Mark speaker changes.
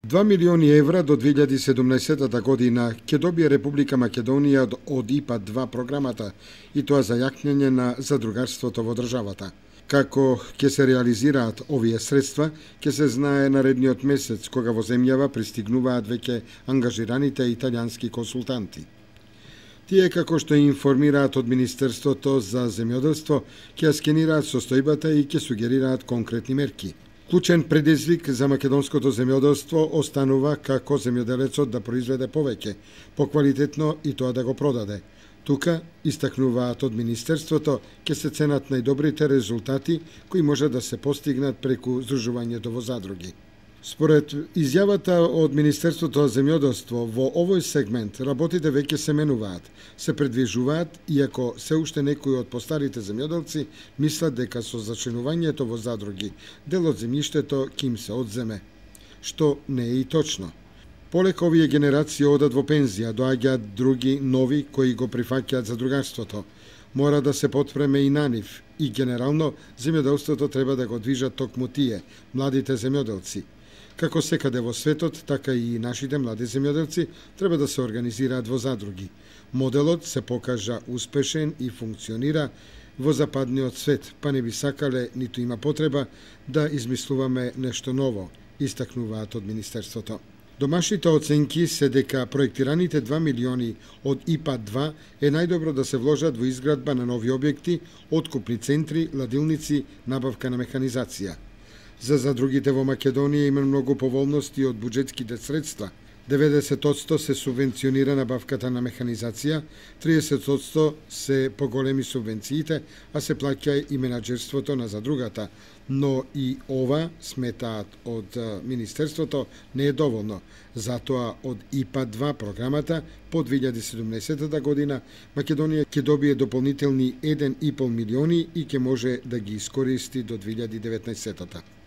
Speaker 1: 2 милиони евра до 2017 година ќе добие Република Македонија од ИПА-2 програмата, и тоа за јакнење на задругарството во државата. Како ќе се реализираат овие средства, ќе се знае наредниот месец, кога во земјава пристигнуваат веќе ангажираните италијански консултанти. Тие, како што информираат од Министерството за земјоделство, ќе скенираат состојбата и ќе сугерираат конкретни мерки. Клучен предизвик за македонското земјоделство останува како земјоделецот да произведе повеќе, поквалитетно и тоа да го продаде. Тука, истакнуваат од Министерството, ќе се ценат најдобрите резултати кои може да се постигнат преку здружувањето во задруги. Според изјавата од Министерството за земјоделство, во овој сегмент работите веќе се менуваат, се предвижуваат, иако се уште некои од постарите земјоделци мислат дека со зачленувањето во задруги дел од земјиштето ќе им се одземе, што не е и точно. Полека овие генерации одат во пензија, доаѓаат други нови кои го прифаќаат задругарството. Мора да се потпреме и на нив, и генерално земјоделството треба да го движат токму тие, младите земјоделци. Како секаде во светот, така и нашите млади земјоделци треба да се организираат во задруги. Моделот се покажа успешен и функционира во западниот свет, па не би сакале, ниту има потреба да измислуваме нешто ново, истакнуваат од Министерството. Домашните оценки се дека проектираните 2 милиони од ИПА-2 е најдобро да се вложат во изградба на нови објекти, откупни центри, ладилници, набавка на механизација. За задругите во Македонија има многу поволности од буџетските средства. 90% се субвенционира набавката на механизација, 30% се поголеми субвенциите, а се плаќа и менаџерството на задругата. Но и ова, сметаат од Министерството, не е доволно. Затоа од ИПА-2 програмата по 2017 година Македонија ќе добие дополнителни 1,5 милиони и ќе може да ги искористи до 2019.